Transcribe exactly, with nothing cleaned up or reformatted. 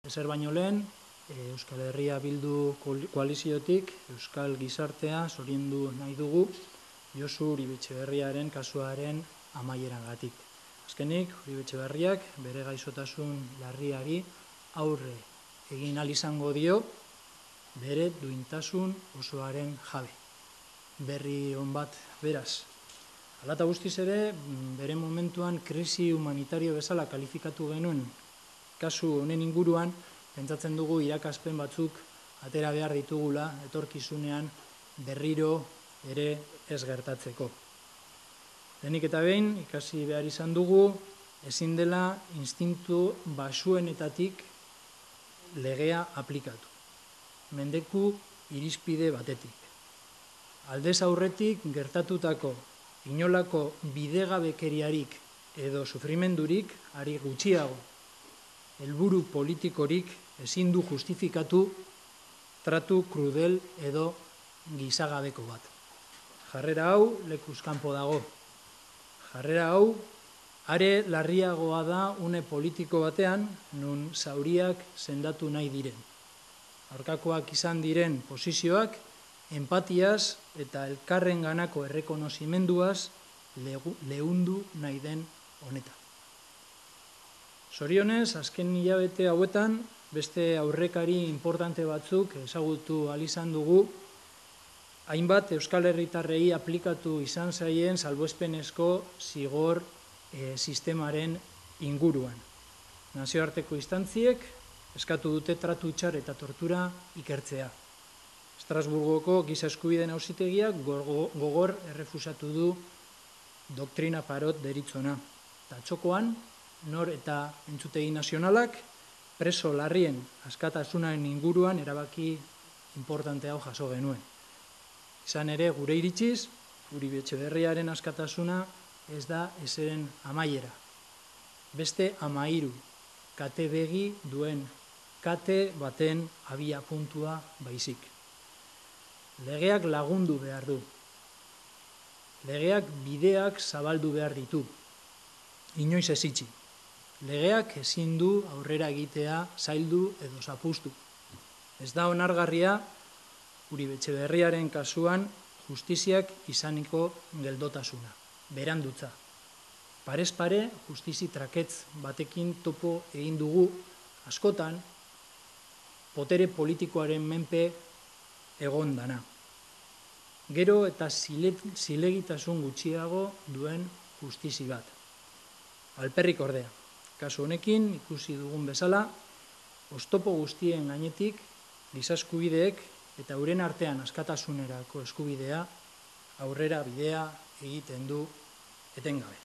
Ezer baino lehen, Euskal Herria Bildu koaliziotik Euskal Gizartea zoriondu nahi dugu Josu Uribe Etxeberriaren kasuaren amaierangatik. Azkenik, Uribe Etxeberriak bere gaixotasun larriari aurre egin ahal izango dio bere duintasun osoaren jabe. Berri on bat beraz. Hala eta guztiz ere, bere momentuan krisi humanitario bezala kalifikatu genuen kasu honen inguruan, pentsatzen dugu irakaspen batzuk atera behar ditugula etorkizunean berriro ere ez gertatzeko. Lehenik eta behin, ikasi behar izan dugu, ezin dela instintu basuenetatik legea aplikatu. Mendeku irizpide batetik. Aldez aurretik gertatutako inolako bidegabekeriarik edo sufrimendurik ari gutxiago helburu politikorik ezin du justifikatu tratu krudel edo gizagabeko bat. Jarrera hau lekuz kanpo dago. Jarrera hau are larriagoa da une politiko batean nun zauriak sendatu nahi diren. Aurkakoak izan diren posizioak empatiaz eta elkarren ganako errekonozimenduaz leundu nahi den honetan. Zorionez, azken hilabete hauetan, beste aurrekari importante batzuk ezagutu ahal izan dugu, hainbat Euskal Herritarrei aplikatu izan zaien salbuespenezko zigor e, sistemaren inguruan. Nazioarteko instantziek eskatu dute tratu txar eta tortura ikertzea. Estrasburgoko giza eskubideen auzitegiak gogor errefusatu du doktrina parot deritzona. Eta txokoan, nor eta entzutegi nazionalak preso larrien askatasunaren inguruan erabaki importante hau jaso genuen. Izan ere, gure iritziz, Uribe Etxeberriaren askatasuna ez da ezeren amaiera. Beste amairu, kate begi duen kate baten abia puntua baizik. Legeak lagundu behar du. Legeak bideak zabaldu behar ditu. Inoiz ez itxi. Legeak ezin du aurrera egitea zaildu edo zapustu. Ez da onargarria Uribe Etxeberriaren kasuan justiziak izaniko geldotasuna, berandutza. Parez pare justizi traketz batekin topo egin dugu askotan botere politikoaren menpe egon dana. Gero eta zilegitasun gutxiago duen justizi bat. Alperrik ordea. Kasu honekin ikusi dugun bezala, oztopo guztien gainetik giza eskubideek eta euren artean askatasunerako eskubidea aurrera bidea egiten du etengabe.